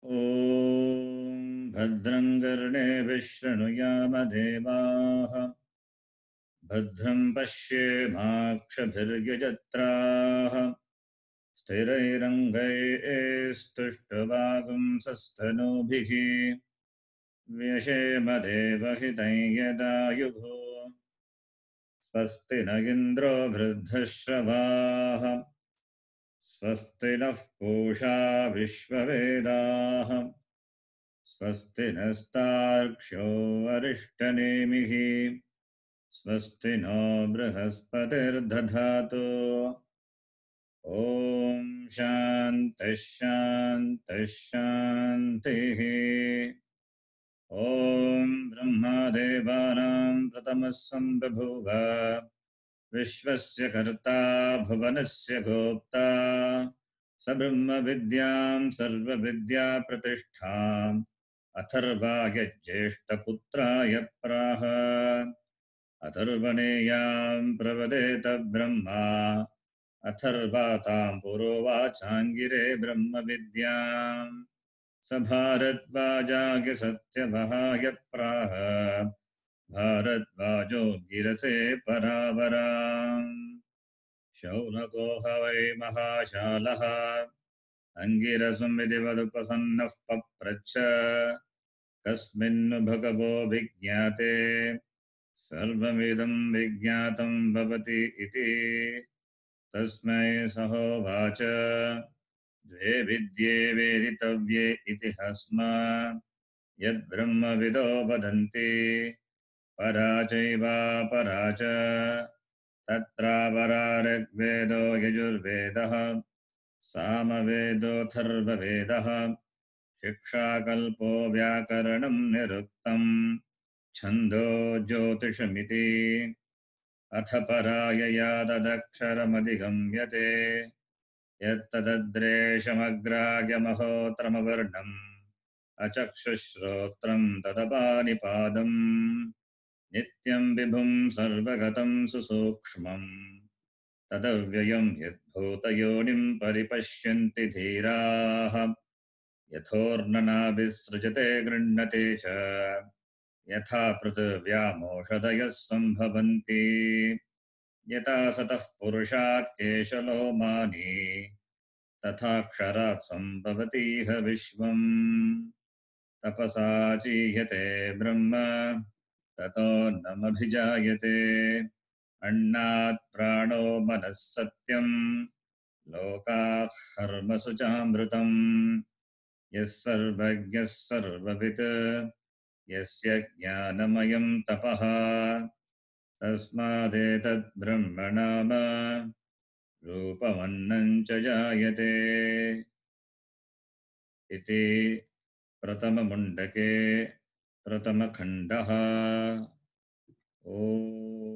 ॐ भद्रं कर्णेभिः शृणुयाम देवाः भद्रं पश्येमाक्षभिर्यजत्राः स्थिरैरङ्गैस्तुष्टुवागुंसस्तनूभिः व्यशेम देवहितं यदायुः स्वस्ति न इन्द्रो वृद्धश्रवाः स्वस्ति नः पूषा विश्ववेदाः स्वस्ति नस्तार्क्ष्यो अरिष्टनेमिः स्वस्ति नो बृहस्पतिर्दधातु ॐ शान्तिः शान्तिः शान्तिः ॐ ब्रह्मदेवानां प्रथमः सम्बभूव विश्वस्य कर्ता भुवनस्य गोप्ता स ब्रह्मविद्यां सर्वविद्याप्रतिष्ठाम् अथर्वाय ज्येष्ठपुत्राय प्राह अथर्वणेयां प्रवदेत ब्रह्मा अथर्वातां पुरोवाचाङ्गिरे ब्रह्मविद्याम् स भारद्वाजाय सत्यवहाय प्राह भारद्वाजो गिरसे परावराम् शौनको ह वै महाशालः अङ्गिरसं विधिवदुपसन्नः पप्रच्छ कस्मिन्नु भगवो विज्ञाते सर्वमिदं विज्ञातं भवति इति तस्मै सहोवाच द्वे विद्ये वेदितव्ये इति हस्मात् यद्ब्रह्मविदो वदन्ति परा चैवापरा च तत्रापरा ऋग्वेदो यजुर्वेदः सामवेदोऽथर्ववेदः शिक्षाकल्पो व्याकरणं निरुक्तम् छन्दो ज्योतिषमिति अथ परायया तदक्षरमधिगम्यते यत्तदद्रेशमग्राह्यमहोत्रमवर्णम् अचक्षुश्रोत्रं तदपानिपादम् नित्यं विभुं सर्वगतं सुसूक्ष्मम् तदव्ययं यद्भूतयोनिं परिपश्यन्ति धीराः यथोर्णनाभिसृजते गृह्णते च यथा पृथिव्यामोषधयः सम्भवन्ति यथा सतः पुरुषात् केशलोमानि तथा क्षरात् सम्भवतीह विश्वम् तपसा चीह्यते ब्रह्म ततो नमभिजायते अन्नात् प्राणो मनः सत्यम् लोकाः कर्मसु चामृतम् यः सर्वज्ञः सर्ववित् यस्य ज्ञानमयं तपः तस्मादेतद् ब्रह्म नाम रूपमन्नं च जायते इति प्रथममुण्डके प्रथमखण्डः। ॐ